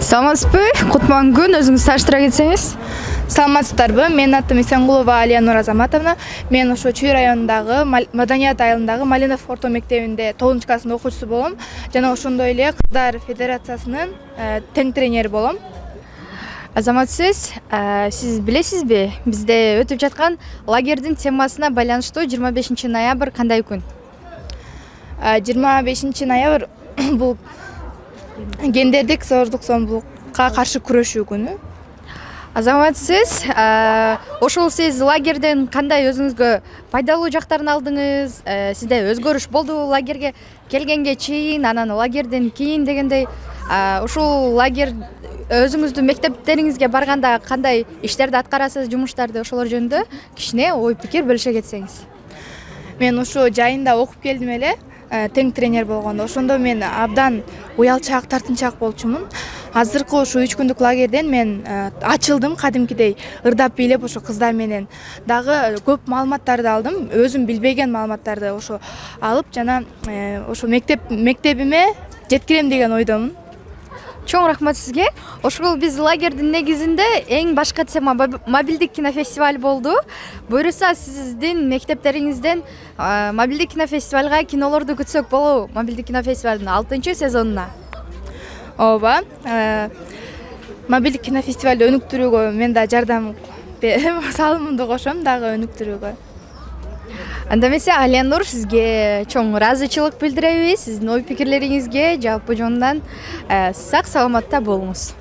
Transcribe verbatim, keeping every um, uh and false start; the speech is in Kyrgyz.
Саламатсызбы? Кутман күн, өзүңүз тааныштыра кетсеңиз. Саламатсыздарбы? Менин атым Исенгулова Алия Нур Азаматовна. Мен ошо Чүй районундагы Маданият айылындагы Малинов орто мектебинде тогузунчу класстын окуучусу болом. Жана ошондой эле Кыздар федерациясынын тең тренери болом. Азаматсыз, сиз билесизби, бизде өтүп жаткан лагердин темасына байланыштуу жыйырма бешинчи ноябрь кандай күн? жыйырма бешинчи ноябрь бул гендердик зордук зомбулукка каршы күрөшүү күнү. Азаматсыз, ошол сиз лагерден кандай өзүңүзгө пайдалуу жактарын алдыңыз? Сизде өзгөрүш болдубу лагерге келгенге чейин, анан лагерден кийин дегендей? Ушул лагер өзүңүздүн мектептериңизге барганда кандай иштерди аткарасыз, жумуштарды, ошолор жөнүндө кичине ой пикир бөлүшө кетсеңиз. Мен ушу жайында окуп келдим эле, тең тренер болгондо. Ошондо мен абдан уялчаак, тартынчаак болчумун. Азыркы ушу үч күндүк лагерден мен ачылдым, кадимкидей ырдап бийлеп ошо кыздар менен дагы көп маалыматтарды алдым, өзүм билбеген маалыматтарды ошо алып, жана ошо мектеп мектебиме жеткирем деген ойдомун. Чоң рахмат сизге. Ошол биз лагердин негизинде эң башкы тема мобилдик кинофестиваль болду. Буюрса сиздин мектептериңизден мобилдик кинофестивальга кинолорду күтсөк болобу? Мобилдик кинофестивалдын алтынчы сезонуна. Ооба. Мобилдик кинофестивалды өнүктүрүүгө мен да жардам салымымды кошом дагы өнүктүрүүгө. Анда эмесе Алия Нур, сизге чоң ыраазычылык билдиребиз. Сиздин ой пикирлериңизге жалпы жонунан сак саламатта болуңуз.